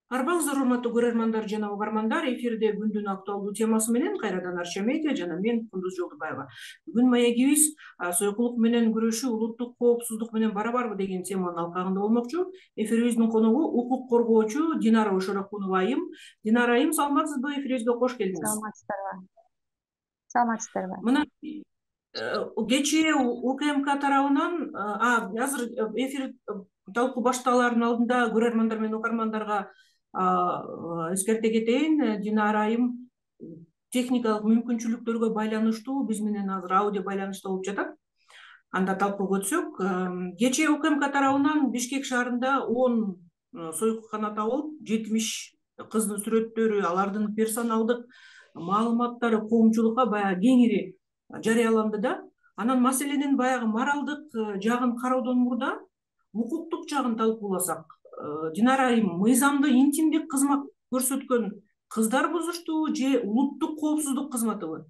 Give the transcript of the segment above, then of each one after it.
Арбаңыздар, урматтуу көрөрмандар жана угармандар, эфирде күндүн актуалдуу темасы менен кайрадан Арча медиа жана мен Кундуз Жолдубаева. Бүгүн маегибиз сойкулук менен күрөшүү улуттук коопсуздук менен барабарбы деген теманын алкагында болмокчу. Эфирибиздин коногу укук коргоочу Динара Ошорокунова айым. Динара айым, саламатсызбы? Эфирибизге кош келдиңиз. Саламатсыздарбы? Саламатсыздарбы? Мына кечээ УКМК тарабынан азыр эфир талкуу башталаардын алдында көрөрмандар менен угармандарга эскерте кетейин. Динара айым техникалык мүмкүнчүлүктөргө байланыштуу биз менен азыр аудио байланышта болуп жатат. Анда талкууга өтсөк, кечээ УКМК тарабынан Бишкек шаарында 10 сойкукана табылып, 70 кыздын сүрөттөрү, алардын персоналдык маалыматтары коомчулукка баягы кеңири жарыяланды да. Анан маселенин баягы моралдык жагын кароодон мурда укуктук жагын талкууласак, Динара айым, мыйзамды интимдик кызмат көрсөткөн кыздар бузуштубу же улуттук коопсуздук кызматыбы?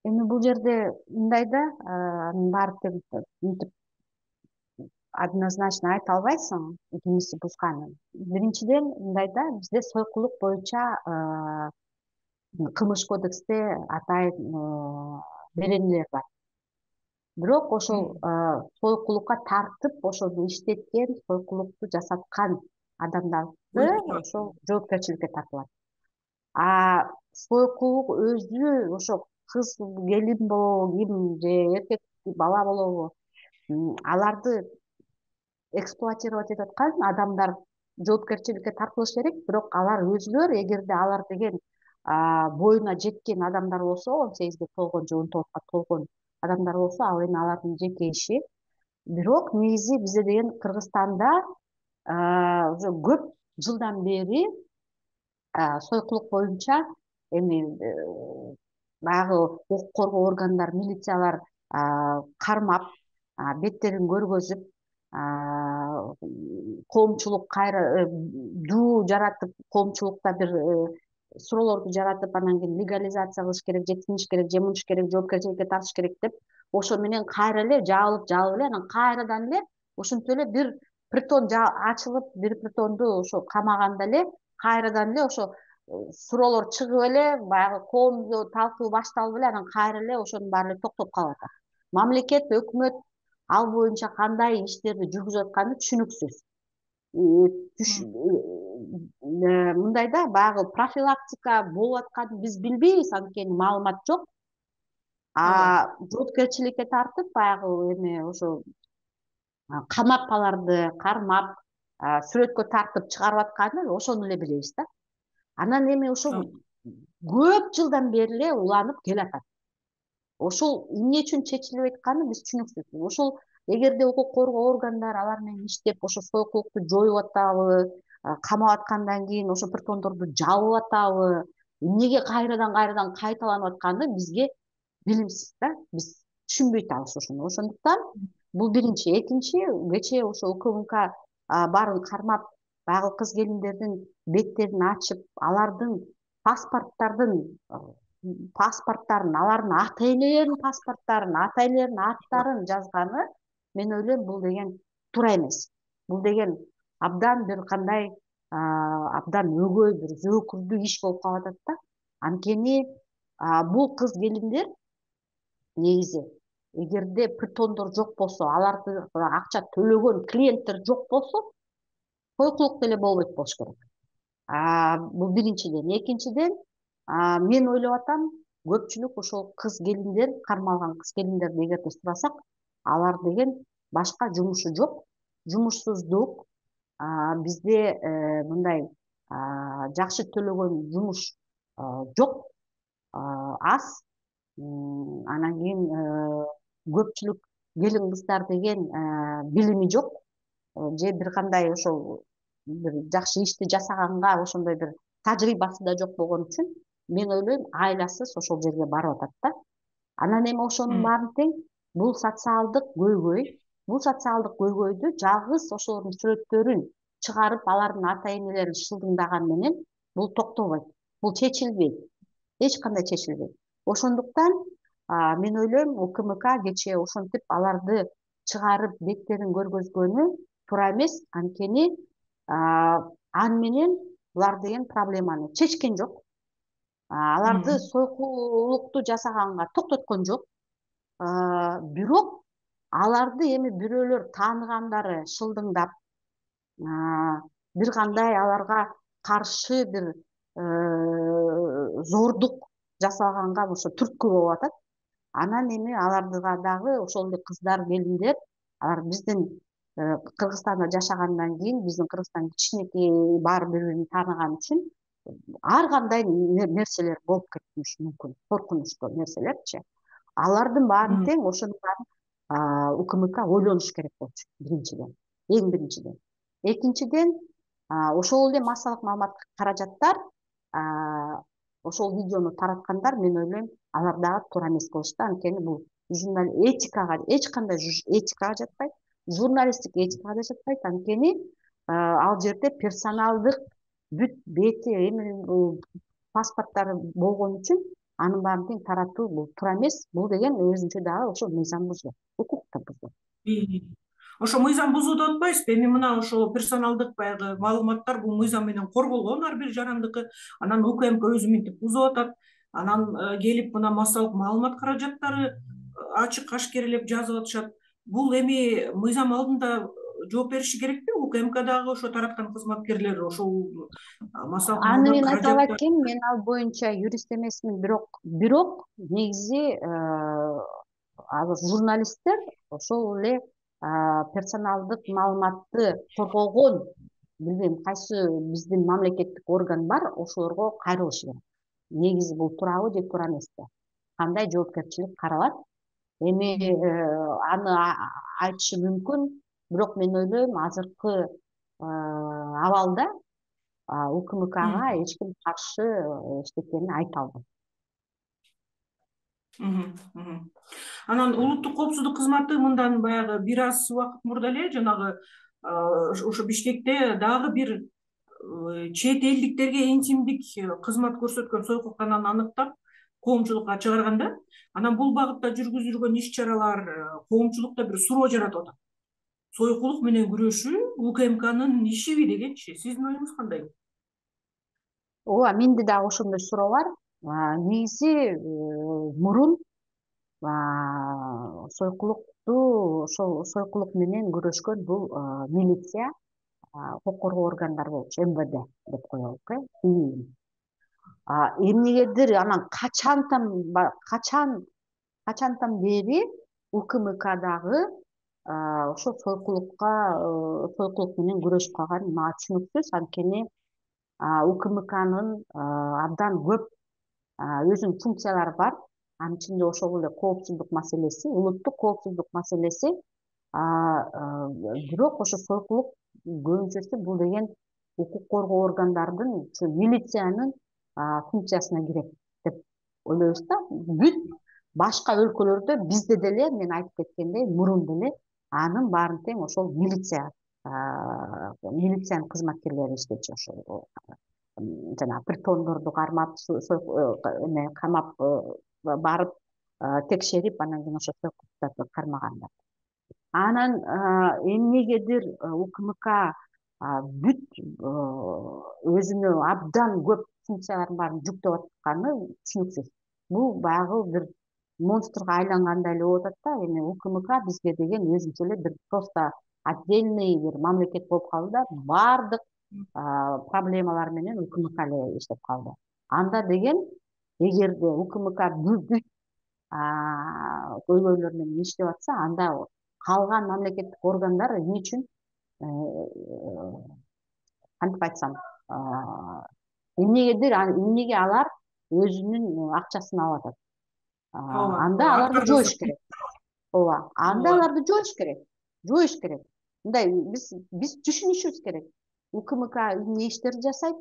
Эми бул жерде мындай да, анын баары тең мынтип однозначно айта албайсың кимиси бузганын. Биринчиден мындай да, бизде сойкулук боюнча кылмыш кодексте атайын беренелер бар. Бирок ошол сойкулукка тартып, ошону иштеткен, сойкулукту жасаткан адамдарды ошол жоопкерчиликке тартылат. Сойкулук өзү ошо кыз, келин болобу, ким же эркек бала болобу, аларды эксплуатировать этип аткан адамдар жоопкерчиликке тартылышы керек. Бирок алар өзүлөр, эгерде алар деген боюна жеткен адамдар болсо, 18 толгон же 19 толгон адамдар болсо, ал эми алардын жеке иши. Бирок негизи бизде деген Кыргызстанда уже көп жылдан бери сойкулук боюнча эми баягы укук коргоо органдары, милициялар кармап, беттерин көргөзүп, коомчулук кайра дуу жаратып, коомчулукта бир суроолорду жаратып, анан кийин легализация кылыш керек, же тинтиш керек, же мынтиш керек, жоопкерчиликке тартыш керек деп, ошо менен кайра эле жабылып эле, анан кайрадан эле ошентип эле бир притон ачылып, бир притонду ошо камаганда эле кайрадан эле ошо суроолор чыгып эле, баягы коомдо талкуу башталып эле, анан кайра эле ошонун баары эле токтоп калып атат. Мамлекет, өкмөт ал боюнча кандай иштерди жүргүзүп атканы түшүнүксүз. Мындай да, баягы профилактика болуп атканын биз билбейбиз, анткени маалымат жок. Жоопкерчиликке тартып, баягы эме ошо камап, аларды кармап, сүрөткө тартып чыгарып атканын ошону эле билебиз да. Анан эми ошол көп жылдан бери эле уланып келатат. Ошол эмне үчүн чечилбей атканы биз түшүнүксүз. Ошол эгерде укук коргоо органдары алар менен иштеп, ошо сойкулукту жоюп атабы, камап аткандан кийин ошо притондорду жабып атабы, эмнеге кайрадан кайталанып атканы бизге билимсиз да, биз түшүнбөй атабыз ошону. Ошондуктан бул биринчи. Экинчи, кечээ ошо УКМК баарын кармап, баягы кыз келиндердин беттерин ачып, алардын паспорттарын, алардын ата-энелеринин паспорттарын, ата-энелеринин аттарын жазганы, мен ойлойм, бул деген туура эмес. Бул деген абдан бир кандай абдан өгөй, бир зөөкүрдүү иш болуп калып атат да. Анткени бул кыз келиндер негизи эгерде притондор жок болсо, аларды акча төлөгөн клиенттер жок болсо, сойкулук деле болбойт болуш керек. Бул биринчиден. Экинчиден, мен ойлоп атам, көпчүлүк ошол кыз келиндер, кармалган кыз келиндерди эгерде сурасак, алар деген башка жумушу жок, жумушсуздук, бизде мындай жакшы төлөгөн жумуш жок, аз. Анан кийин көпчүлүк келин кыздар деген билими жок, же бир кандай ошол бир жакшы ишти жасаганга ошондой бир тажрыйбасы да жок болгон үчүн мен ойлойм, айласыз ошол жерге барып атат да. Анан эми ошонун баарын тең бул социалдык көйгөй, бул социалдык көйгөйдү жалгыз ошолордун сүрөттөрүн чыгарып, алардын ата-энелерин шылдыңдаган менен бул токтобойт. Бул чечилбейт. Эч кандай чечилбейт. Ошондуктан мен ойлойм, УКМК кечээ ошентип аларды чыгарып беттерин көргөзгөнү туура эмес. Анткени аны менен булар деген проблеманы чечкен жок, аларды сойкулукту жасаганга токтоткон жок. Бирок аларды эми бирөөлөр тааныгандары шылдыңдап, бир кандай аларга каршы бир зордук жасалганга ошо түрткү болуп атат. Анан эми аларга дагы ошол эле кыздар, келиндер, алар биздин Кыргызстанда жашагандан кийин, биздин Кыргызстан кичинекей, баары бири бирин тааныган үчүн ар кандай нерселер болуп кетиши мүмкүн, коркунучтуу нерселерчи. Алардын баарын тең ошонун баарын УКМК ойлонуш керек болчу, биринчиден, эң биринчиден. Экинчиден, ошол эле массалык маалымат каражаттар, ошол видеону тараткандар, мен ойлойм, алар дагы туура эмес кылышты. Анткени бул этикага, эч кандай этикага жатпайт, журналисттик этикага да жатпайт. Анткени ал жерде персоналдык бүт бети, эми паспорттары болгон үчүн анын баарын тең таратуу бул туура эмес. Бул деген өзүнчө дагы ошо мыйзам бузуу, укукту бузуу. Ошо мыйзам бузуу деп атпайсызбы? Эми мына ошо персоналдык баягы маалыматтар бул мыйзам менен корголгон ар бир жарандыкы. Анан УКМК өзү минтип бузуп атат. Анан келип мына массалык маалымат каражаттары ачык ашкерелеп жазып атышат. Бул эми мыйзам алдында жооп бериши керекпи? УКМК дагы ошо тараткан кызматкерлер ошол массалык Аны маалымат мен айтып алат каражаттары. экенмин, мен ал боюнча юрист эмесмин, бирок негизи азыр журналисттер ошол эле персоналдык маалыматты коргогон, билбейм кайсы биздин мамлекеттик орган бар, ошолорго кайрылышы керек. Негизи бул туурабы же туура эмеспи? Кандай жоопкерчилик каралат? Эми аны айтышы мүмкүн, бирок мен ойлойм азыркы абалда УКМКга эч ким каршы эчтекени айта албайт. Анан улуттук коопсуздук кызматы мындан баягы бир аз убакыт мурда эле жанагы ошо Бишкекте дагы бир чет элдиктерге интимдик кызмат көрсөткөн сойкуктананы аныктап, коомчулукка чыгарганда, анан бул багытта жүргүзүлгөн иш чаралар коомчулукта бир суроо жаратып атат. Сойкулук менен күрөшүү УКМКнын ишиби дегенчи. Сиздин оюңуз кандай? Ооба, менде дагы ошондой суроо бар. Негизи мурун ошол сойкулук менен күрөшкөн бул милиция, укук коргоо органдары болчу, МВД деп коелук, эмнегедир анан качантан бери УКМК дагы ошол сойкулук менен күрөшүп калганы мага түшүнүксүз. Анткени УКМКнын абдан көп өзүнүн функциялары бар. Анын ичинде ошол эле коопсуздук маселеси, улуттук коопсуздук маселеси. Бирок ошо сойкулук көбүнчөсү бул деген укук коргоо органдардын, милициянын функциясына кирет деп ойлойбуз да. Бүт башка өлкөлөрдө бизде деле, мен айтып кеткендей, мурун деле анын баарын тең ошол милициянын кызматкерлери иштечү. Ошол жана притондорду кармап, камап, барып текшерип, анан кийин ошо сойкулуктарды кармагандар. Анан эмнегедир УКМК бүт өзүнө абдан көп функциялардын баарын жүктөп атканы түшүнүксүз. Бул баягы бир монстрго айлангандай эле болуп атат да. Эми УКМК бизге деген өзүнчө эле бир просто отдельный бир мамлекет болуп калды да, баардык проблемалар менен УКМК эле иштеп калды. Анда деген эгерде УКМК бүт көйгөйлөр менен иштеп атса, анда калган мамлекеттик органдар эмне үчүн, кантип айтсам, эмнеге алар өзүнүн акчасын алып атат? Анда аларды жоюш керек. Ооба, анда аларды жоюш керек. Мындай биз түшүнүшүбүз керек. УКМК эмне иштерди жасайт,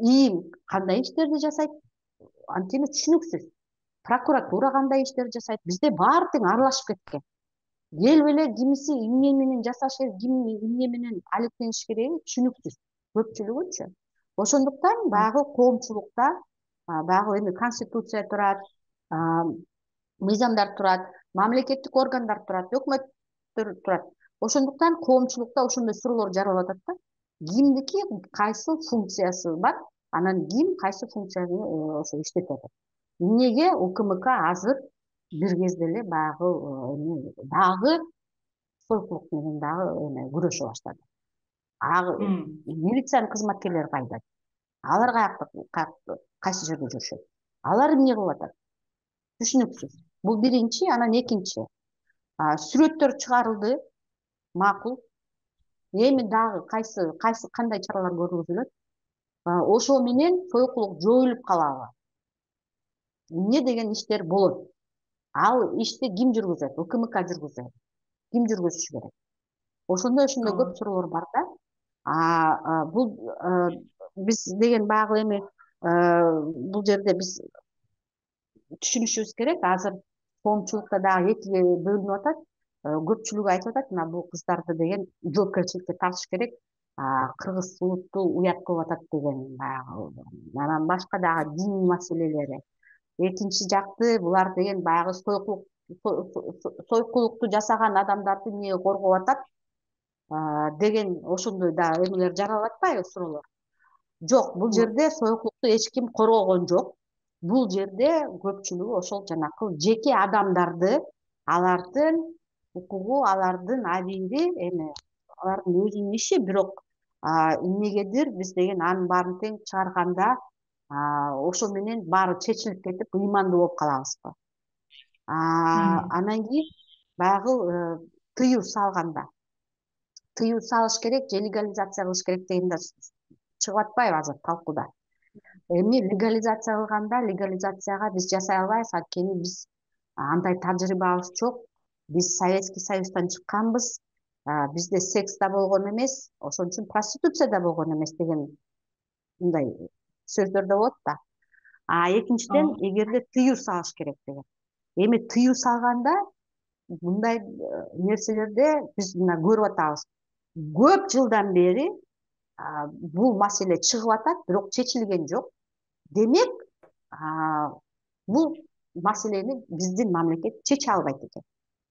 ИИМ кандай иштерди жасайт, анткени түшүнүксүз. Прокуратура кандай иштерди жасайт, бизде баары тең аралашып кеткен. Келип эле кимиси эмне менен жасаш керек, ким эмне менен алектениш кереги түшүнүксүз, көпчүлүгүчү. Ошондуктан баягы коомчулукта, баягы эми конституция турат, мыйзамдар турат, мамлекеттик органдар турат, өкмөттөр турат. Ошондуктан коомчулукта ошондой суроолор жаралып атат да. кимдики кайсы функциясы бар, анан ким кайсы функцияны ошо иштетет. Эмнеге УКМК азыр бир кезде эле баягы дагы сойкулук менен дагы күрөшө баштады. Милициянын кызматкерлери кайда? Алар кайсы жерде жүрүшөт? Алар эмне кылып атат? Түшүнүксүз. Бул биринчи, анан экинчи. Сүрөттөр чыгарылды, макул. Эми дагы кандай чаралар көрүлүп? Ошо менен сойкулук жоюлуп калабы? Эмне деген иштер болот? Ал ишти ким жүргүзөт? УКМК жүргүзөт. Ким жүргүзүшү керек? Ошондой көп суроолор бар да. Бул биз деген баягы эми бул жерде биз түшүнүшүбүз керек. Азыр коомчулукта дагы экиге бөлүнүп атат. Көпчүлүгү айтып атат, мына бул кыздарды деген жоопкерчиликке тартыш керек. Кыргыз улутту уят кылып атат деген баягы. Анан башка дагы диний маселелери. Экинчи жакты булар деген баягы сойкулукту жасаган адамдарды эмнеге коргоп атат деген ошондой да эмелер жаралып атпайбы, суроолор. Жок, бул жерде сойкулукту эч ким коргогон жок. Бул жерде көпчүлүгү ошол жанакы жеке адамдарды, алардын укугу, алардын абийири, эми алардын өзүнүн иши, бирок эмнегедир биз деген анын баарын тең чыгарганда ошо менен баары чечилип кетип, ыймандуу болуп калабызбы? Анан кийин баягы тыюу салганда, тыюу салыш керек же легализация кылыш керек деген да чыгып атпайбы азыр талкууда? Эми легализация кылганда, легализацияга биз жасай албайбыз, анткени биз андай тажрыйбабыз жок. Биз Советский Союздан чыкканбыз, бизде секс да болгон эмес, ошон үчүн проституция да болгон эмес деген мындай сөздөр да болот да. Экинчиден, эгерде тыюу салыш керек деген. Эми тыюу салганда мындай нерселерде биз мына көрүп атабыз. Көп жылдан бери бул маселе чыгып атат, бирок чечилген жок. Демек, бул маселени биздин мамлекет чече албайт экен.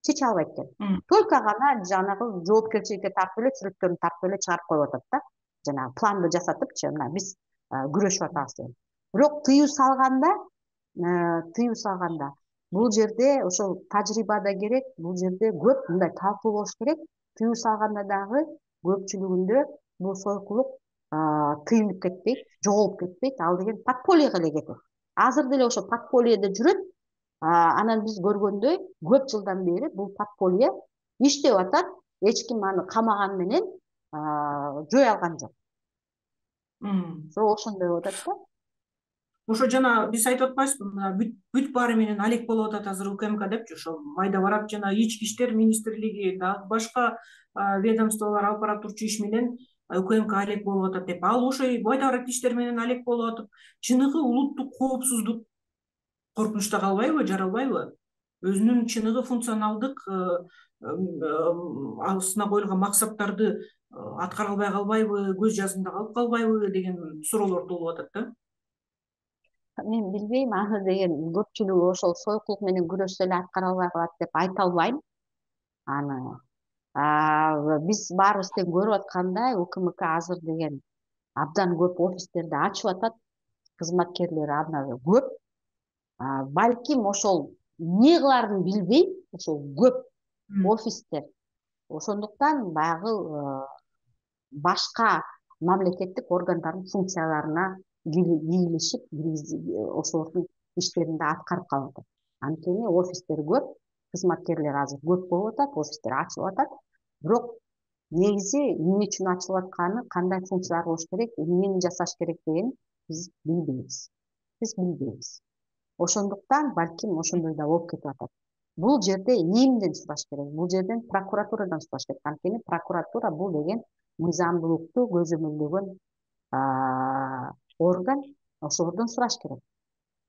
Чече албайт экен. Только гана жанагы жоопкерчиликке тартып эле, сүрөттөрүн тартып эле чыгарып коюп атат да. Жанагы планды жасатыпчы, мына биз күрөшүп атабыз деген. Бирок тыюу салганда бул жерде ошол тажрыйба да керек, бул жерде көп мындай талкуу болуш керек. Тыюу салганда дагы көпчүлүгүндө бул сойкулук тыйылып кетпейт, жоголуп кетпейт, ал деген подпольеге эле кетет. Азыр деле ошо подпольеде жүрөт. Анан биз көргөндөй көп жылдан бери бул подполье иштеп атат, эч ким аны камаган менен жое алган жок. Ошондой болуп атат да. Ошо жана биз айтып атпайбызбы, мына бүт баары менен алек болуп атат азыр УКМК депчи, ошо майда барат жана Ички иштер министрлиги, дагы башка ведомстволор алып бара турчу иш менен УКМК алек болуп атат деп. Ал ошо майда барат иштер менен алек болуп атып, чыныгы улуттук коопсуздук коркунучта калбайбы, жаралбайбы? Өзүнүн чыныгы функционалдык астына коюлган максаттарды аткара албай калбайбы, көз жазында калып калбайбы деген суроолор туулуп атат да. Мен билбейм, аны деген көпчүлүгү ошол сойкулук менен күрөшсө эле аткара албай калат деп айта албайм. Аны биз баарыбыз тең көрүп аткандай, УКМК азыр деген абдан көп офистерди ачып атат, кызматкерлери абдан көп. Балким ошол эмне кылаарын билбей, ошол көп офистер. Ошондуктан баягы башка мамлекеттик органдардын функцияларына кийлишип, ошолордун иштерин да аткарып калып атат. Анткени офистер көп, кызматкерлер азыр көп болуп атат, офистер ачылып атат. Бирок негизи эмне үчүн ачылып атканы, кандай функциялар болуш керек, эмнени жасаш керек дегенин биз билбейбиз. Ошондуктан балким ошондой да болуп кетип атат. Бул жерде эмден сураш керек? Бул жерден прокуратурадан сураш керек. Анткени прокуратура бул деген мыйзамдуулукту көзөмөлдөгөн орган, ошолордон сураш керек.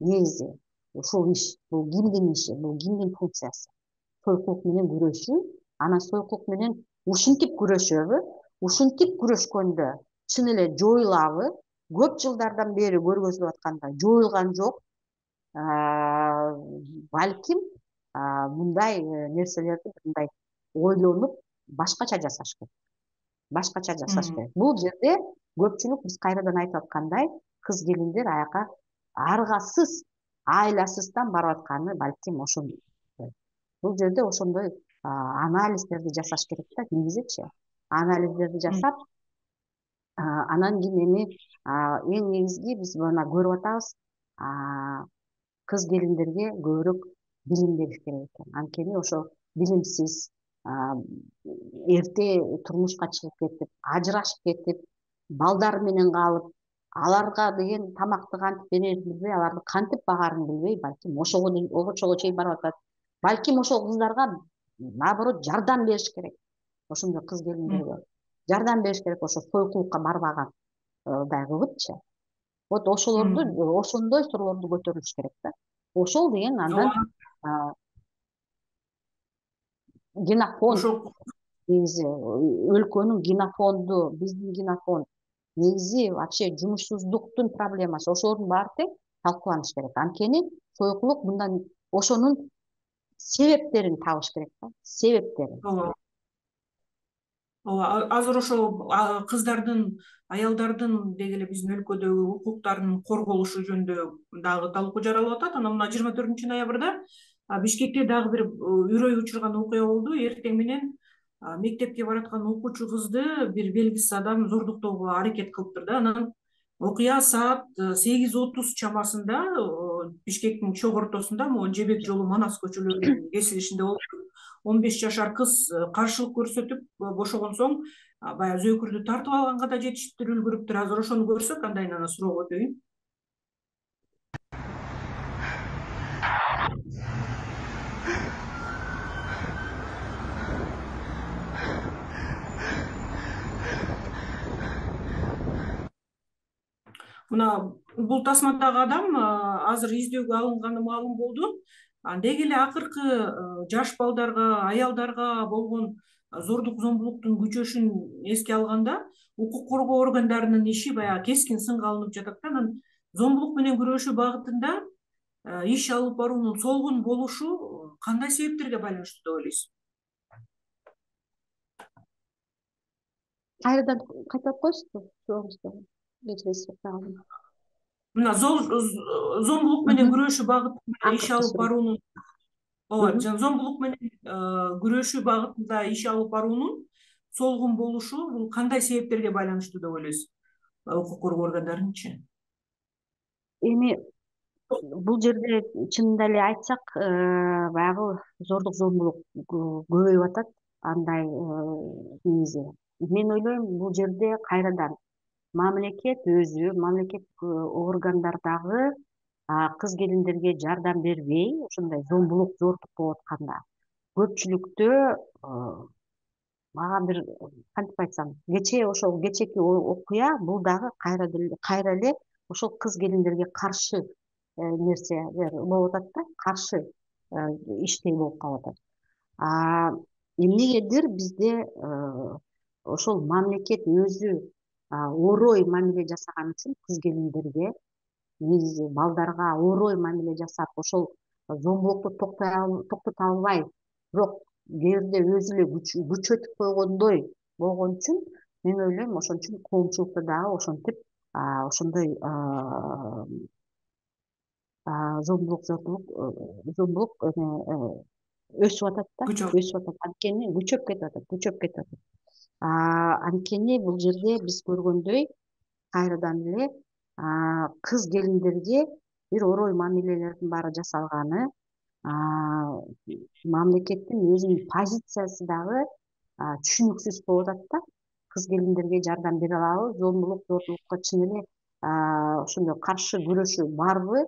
Негизи ушул иш, бул кимдин иши, бул кимдин функциясы? Сойкулук менен күрөшүү, анан сойкулук менен ушинтип күрөшөбү? Ушинтип күрөшкөндө чын эле жоюлабы? Көп жылдардан бери көргөзүлүп атканда жоюлган жок. Балким мындай нерселерди мындай ойлонуп башкача жасаш керек. башкача жашаш керек. Бул жерде көпчүлүк биз кайрадан айтып аткандай кыз келиндер аяка аргасыз, айласыздан барып атканы балким ошондой. Бул жерде ошондой анализдерди жасаш керек да, негизичи. Анализдерди жасап, анан кийин эми эң негизги биз мына көрүп атабыз, кыз келиндерге көбүрөөк билим бериш керек экен. Анткени ошо билимсиз, эрте турмушка чыгып кетип, ажырашып кетип, балдар менен калып, аларга деген тамакты кантип берерин билбей, аларды кантип багаарын билбей, балким ошого чейин барып атат. Балким ошол кыздарга наоборот жардам бериш керек. Ошондой кыз келиндерге жардам бериш керек, ошо сойкулукка барбаган дагыбычы. Вот ошолорду, ошондой суроолорду көтөрүлүш керек да. Ошол деген андан генофонд, ошол негизи өлкөнүн генофонду, биздин генофонд, негизи вообще жумушсуздуктун проблемасы, ошолордун баары тең талкууланыш керек. Анткени сойкулук мындан ошонун себептерин табыш керек да, себептерин. ооба, азыр ошол кыздардын, аялдардын деги эле биздин өлкөдөгү укуктарынын корголушу жөнүндө дагы талкуу жаралып атат. Анан мына 24-ноябрда Бишкекте дагы бир үрөй учурган окуя болду. Эртең менен мектепке бараткан окуучу кызды бир белгисиз адам зордуктоого аракет кылыптыр да. Анан окуя саат 8:30 чамасында Бишкектин чок ортосунда, могу Жебек жолу, Манас көчөлөрүнүн кесилишинде болуп, 15 жашар кыз каршылык көрсөтүп бошогон соң баягы зөөкүрдү тартып алганга да жетиштирип үлгүрүптүр. Азыр ошону көрсөк андайын анан суроого өтөйүн. Мына бул тасмадагы адам азыр издөөгө алынганы маалым болду. Деги эле акыркы жаш балдарга, аялдарга болгон зордук зомбулуктун күчөшүн эске алганда, укук коргоо органдарынын иши баягы кескин сынга алынып жатат да. Анан зомбулук менен күрөшүү багытында иш алып баруунун солгун болушу кандай себептерге байланыштуу деп ойлойсуз? Кайрадан кайталап коесузбу сурооңузду? Кечиресиз, Мына зомбулук менен күрөшүү багытында иш алып баруунун, ооба, зомбулук менен күрөшүү багытында иш алып баруунун солгун болушу бул кандай себептерге байланыштуу деп ойлойсуз? Укук коргоо органдарынынчы. Эми бул жерде чынында эле айтсак, баягы зордук зомбулук көбөйүп атат. Андай негизи мен ойлойм, бул жерде кайрадан мамлекет өзү, мамлекет органдар дагы кыз келиндерге жардам бербей, ошондой зомбулук, зордук болуп атканда көпчүлүктө мага бир кантип айтсам, ошол кечээки окуя бул дагы кайра эле ошол кыз келиндерге каршы нерсе болуп атат да, каршы иштей болуп калып атат. Эмнегедир бизде ошол мамлекет өзү орой мамиле жасаган үчүн кыз келиндерге, негизи балдарга орой мамиле жасап, ошол зомбулукту токтото албай, бирок кээ бирде өзү эле күчөтүп койгондой болгон үчүн мен ойлойм, ошон үчүн коомчулукта дагы ошентип ошондой зомбулук өсүп атат да, өсүп атат. Анткени күчөп кетип атат. Анткени бул жерде биз көргөндөй кайрадан эле кыз келиндерге бир орой мамилелердин баары жасалганы, мамлекеттин өзүнүн позициясы дагы түшүнүксүз болуп атат да. Кыз келиндерге жардам бере алабы, зомбулук, зордулукка чын эле ошондой каршы күрөшүү барбы,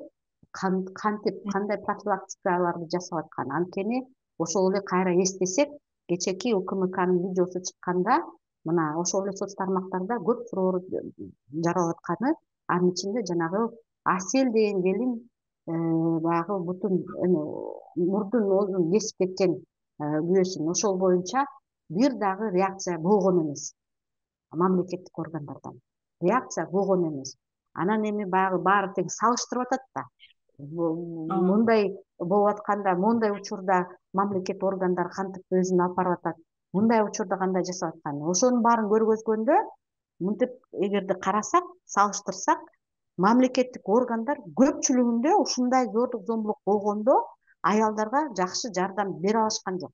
кантип, кандай профилактикаларды жасап аткан. Анткени ошол эле кайра эстесек, кечээки УКМКнын видеосу чыкканда, мына ошол эле соц тармактарда көп суроолор жаралып атканы, анын ичинде жанагы Асель деген келин баягы бутун мурдун оозун кесип кеткен күбөсүн, ошол боюнча бир дагы реакция болгон эмес мамлекеттик органдардан. Реакция болгон эмес. Анан эми баягы баары тең салыштырып атат да. Мындай болуп атканда, мондай учурда мамлекет органдары кантип өзүн алып барып атат. мындай учурда кандай жасап атканын. Ошонун баарын көргөзгөндө мынтип эгерде карасак, салыштырсак, мамлекеттик органдар көпчүлүгүндө ушундай зордук зомбулук болгондо аялдарга жакшы жардам бере алышкан жок.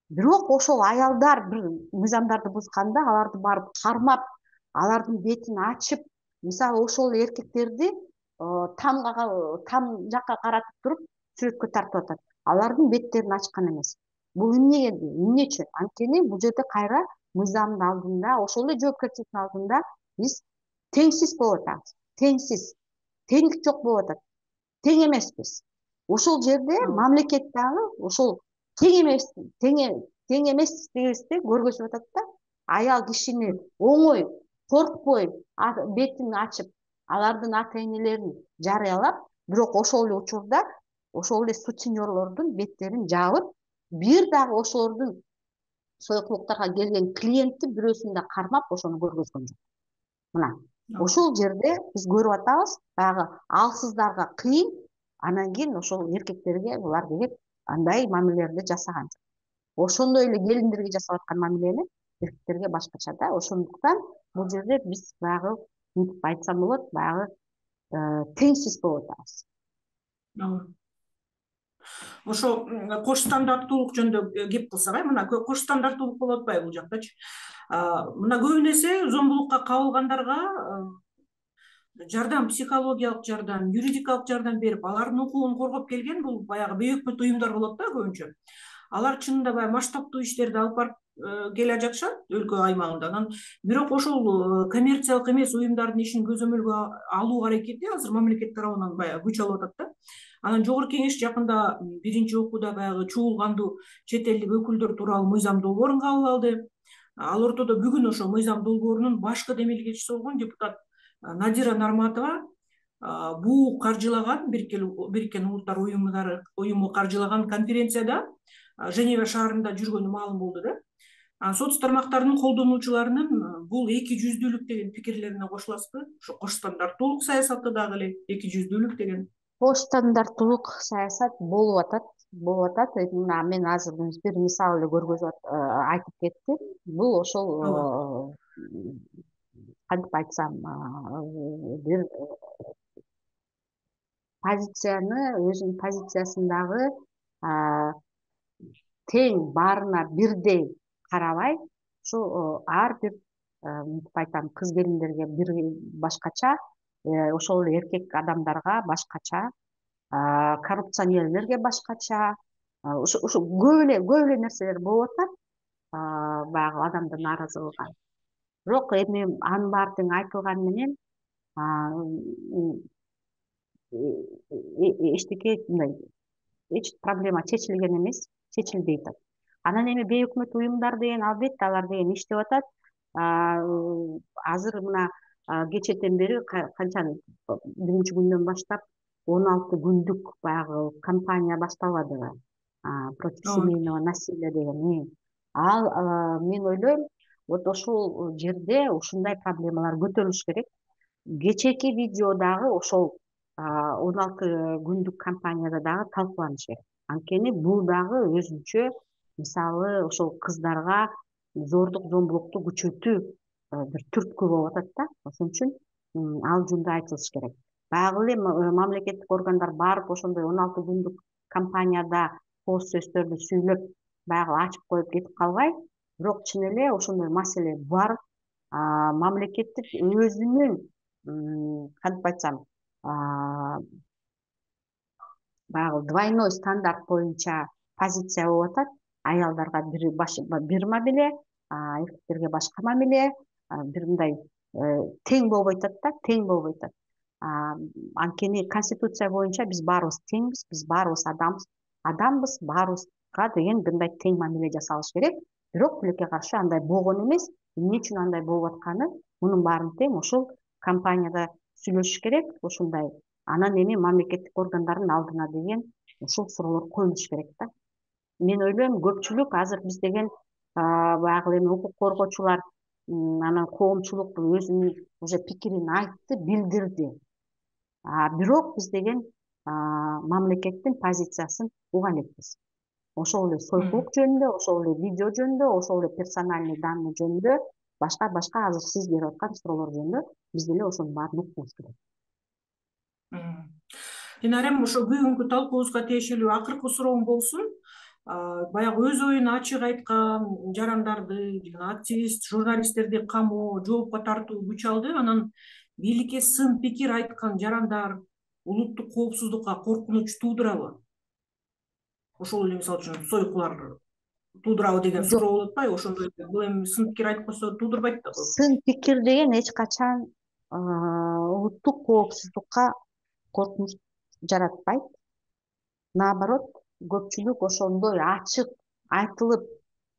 Бирок ошол аялдар бир мыйзамдарды бузганда аларды барып кармап, алардын бетин ачып, мисалы ошол эркектерди там жакка каратып туруп сүрөткө тартып атат. Алардын беттерин ачкан эмес. Бул эмне үчүн? Анткени бул жерде кайра мыйзамдын алдында, ошол эле жоопкерчиликтин алдында биз теңсиз болуп атабыз. Теңдик жок болуп атат. Тең эмеспиз. Ошол жерде мамлекет дагы ошол тең эместигибизди көргөзүп атат да. Аял кишини оңой, коркпой бетин ачып, алардын ата энелерин жарыялап, бирок ошол эле учурда ошол эле сутенерлордун беттерин жаап, бир дагы ошолордун сойкулуктарга келген клиентти бирөөсүн да кармап, ошону көргөзгөн жок. Мына ошол жерде биз көрүп атабыз, баягы алсыздарга кыйын, анан кийин ошол эркектерге булар келип андай мамилелерди жасаган жок. Ошондой эле келиндерге жасап аткан мамилени эркектерге башкача да. Ошондуктан бул жерде биз баягы мынтип айтсам болот, баягы теңсиз болуп атабыз. Ошо кош стандарттуулук жөнүндө кеп кылсак, мына кош стандарттуулук болуп атпайбы бул жактачы? Мына көбүн эсе зомбулукка кабылгандарга жардам, психологиялык жардам, юридикалык жардам берип, алардын укугун коргоп келген бул баягы бейөкмөт уюмдар болот да көбүнчө. Алар чынында баягы масштабтуу иштерди алып барып келе жатышат өлкө аймагында. Анан бирок ошол коммерциялык эмес уюмдардын ишин көзөмөлгө алуу аракети азыр мамлекет тарабынан баягы күч алып атат да. Анан Жогорку Кеңеш жакында биринчи окууда баягы чуулгандуу чет элдик өкүлдөр тууралуу мыйзам долбоорун кабыл алды. Ал ортодо бүгүн ошо мыйзам долбоорунун башкы демилгечиси болгон депутат Надира Нарматова буу каржылаган Бириккен Улуттар уюму каржылаган конференцияда Женева шаарында жүргөнү маалым болду да. Соц тармактарынын колдонуучуларынын бул эки жүздүүлүк деген пикирлерине кошуласызбы? Ошо кош стандарттуулук саясаты дагы эле эки жүздүүлүк деген. Кош стандарттуулук саясат болуп атат. Мына мен азыр бир мисал эле көргөзүп айтып кеттим. Бул ошол кантип айтсам, бир позицияны, өзүнүн позициясындагы тең баарына бирдей карабай, ушу ар бир мынтип айтам, кыз келиндерге бир башкача, ошол эле эркек адамдарга башкача, коррупционерлерге башкача, ушу көп эле нерселер болуп атат, баягы адамды нааразы кылган. Бирок эми анын баары тең айтылганы менен эчтеке мындай эч проблема чечилген эмес, чечилбей атат. Анан эми бейөкмөт уюмдар деген албетте алар деген иштеп атат. Азыр мына кечээден бери канча биринчи күндөн баштап 16 күндүк баягы кампания башталбадыбы? Против семейного насилия деген. Ал мен ойлойм, вот ошол жерде ушундай проблемалар көтөрүлүш керек. Кечээки видео дагы ошол 16 күндүк кампанияда дагы талкууланыш керек. Анткени бул дагы өзүнчө, мисалы, ошол кыздарга зордук зомбулукту күчөтүү бир түрткү болуп атат да. Ошон үчүн ал жөнүндө айтылыш керек. Баягы эле мамлекеттик органдар барып ошондой 16 күндүк кампанияда кооз сөздөрдү сүйлөп, баягы ачып коюп кетип калбай, бирок чын эле ошондой маселе бар, мамлекеттик өзүнүн кантип айтсам, баягы двойной стандарт боюнча позиция болуп атат. Аялдарга бир мамиле, эркектерге башка мамиле, бир мындай тең болбой атат да, тең болбой атат. Анткени конституция боюнча биз баарыбыз теңбиз, биз баарыбыз адамбыз, баарыбызга деген мындай тең мамиле жасалыш керек. Бирок тилекке каршы андай болгон эмес. Эмне үчүн андай болуп атканы, мунун баарын тең ошол компанияда сүйлөшүш керек, ошондой. Анан эми мамлекеттик органдардын алдына деген ушул суроолор коюлуш керек да. Мен ойлойм, көпчүлүк азыр биз деген баягы эми укук коргоочулар, анан коомчулук өзүнүн уже пикирин айтты, билдирди. Бирок биз деген мамлекеттин позициясын уга элекпиз. ошол эле сойкулук жөнүндө, ошол эле видео жөнүндө, ошол эле персональный данный жөнүндө, башка азыр сиз берип аткан суроолор жөнүндө биз деле ошонун баарын укугубуз керек. Динарем, ошо бүгүнкү талкуубузга тиешелүү акыркы суроом болсун. Баягы өз оюн ачык айткан жарандарды, активист, журналисттерди камоо, жоопко тартуу күч алды. Анан бийликке сын пикир айткан жарандар улуттук коопсуздукка коркунуч туудурабы? Ошол эле мисалы үчүн сойкулар туудурабы деген Жок, суроо болуп атпайбы? Ошондой бул эми сын пикир айтып койсо туудурбайт да. сын пикир деген эч качан улуттук коопсуздукка коркунуч жаратпайт. Наоборот, көпчүлүк ошондой ачык айтылып,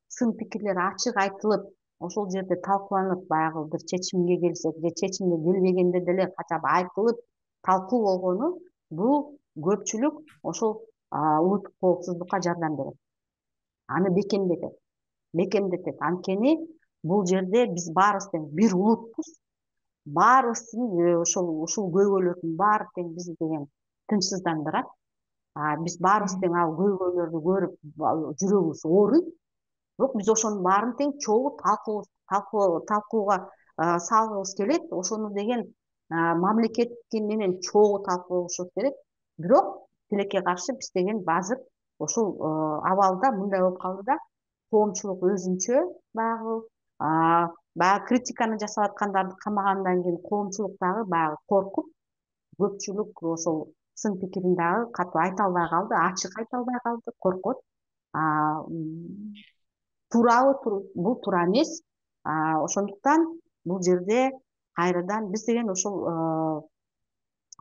сын пикирлер ачык айтылып, ошол жерде талкууланып, баягы бир чечимге келсек же чечимге келбегенде деле кача айтылып талкуу болгону, бул көпчүлүк ошол улуттук коопсуздукка жардам берет. Аны бекемдетет. Анткени бул жерде биз баарыбыз тең бир улутпуз. Баарыбыздын ушул көйгөйлөрдүн баары тең бизди деген тынчсыздандырат. Биз баарыбыз тең ал көйгөйлөрдү көрүп жүрөгүбүз ооруйт. Бирок биз ошонун баарын тең чогуу талкууга салгыбыз келет. Ошону деген мамлекет менен чогуу талкуулашыбыз керек. Бирок тилекке каршы биз деген азыр ушул абалда мындай болуп калды да, коомчулук өзүнчө баягы критиканы жасап аткандарды камагандан кийин коомчулук дагы баягы коркуп, көпчүлүк ошол сын пикирин дагы катуу айта албай калды, ачык айта албай калды, коркот. Туурабы? Бул туура эмес. Ошондуктан бул жерде кайрадан биз деген ошол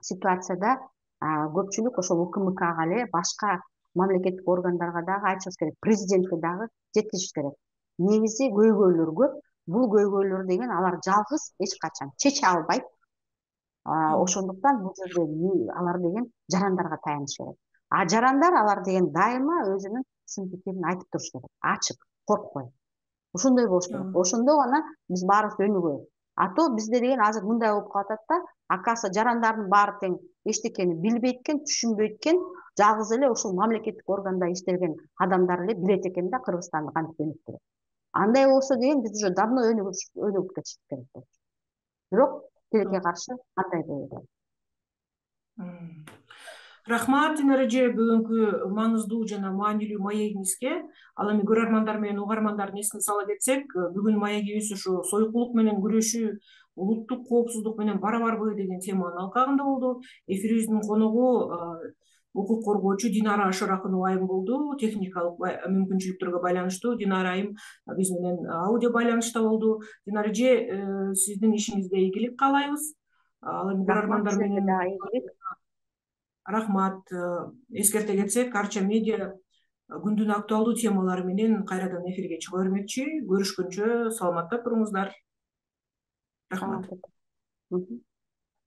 ситуацияда көпчүлүк ошол УКМКга эле, башка мамлекеттик органдарга дагы айтышыбыз керек, президентке дагы жеткизишибиз керек. Негизи көйгөйлөр көп. Бул көйгөйлөр деген алар жалгыз эч качан чече албайт. Ошондуктан бул жерде алар деген жарандарга таяныш керек. Жарандар алар деген дайыма өзүнүн сын пикирин айтып туруш керек, ачык, коркпой. Ошондой болуш керек. Ошондо гана биз баарыбыз өнүгөбүз. А то бизде деген азыр мындай болуп калып атат да, акасы жарандардын баары тең эчтекени билбейт экен, түшүнбөйт экен, жалгыз эле ушул мамлекеттик органда иштеген адамдар эле билет экен да Кыргызстанды кантип өнүктүрөт. Андай болсо деген биз уже давно өнүгүп кетишибиз керек болчу. Бирок тилекке каршы андай болду. Рахмат, Динара эже, бүгүнкү маңыздуу жана маанилүү маегиңизге. Ал эми көрөрмандар менен угармандардын эсине сала кетсек, бүгүн маегибиз ушу сойкулук менен күрөшүү улуттук коопсуздук менен барабарбы деген теманын алкагында болду. Эфирибиздин коногу укук коргоочу Динара Шорохунова айым болду. Техникалык мүмкүнчүлүктөргө байланыштуу Динара айым биз менен аудио байланышта болду. Динара эже, сиздин ишиңизге ийгилик каалайбыз. Ал эми көрөрмандар менен рахмат. Эскерте кетсек, Арча медиа күндүн актуалдуу темалары менен кайрадан эфирге чыга бермекчи. Көрүшкөнчө саламатта туруңуздар. Рахмат.